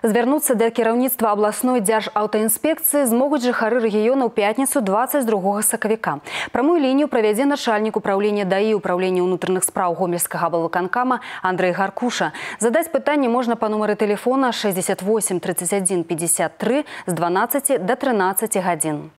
Звярнуцца да кіраўніцтва абласной дзяржаўтаінспекцыі змогуць жыхары рэгіёна ў пятніцу 22 сакавіка. Прамую лінію правядзе начальнік управлення ДАІ управлення ўнутраных спраў гомельскага аблвыканкама Андрэй Гаркуша. Задаць пытанне можна па нумары тэлефона 68 31 53 з 12 до 13 гадзін.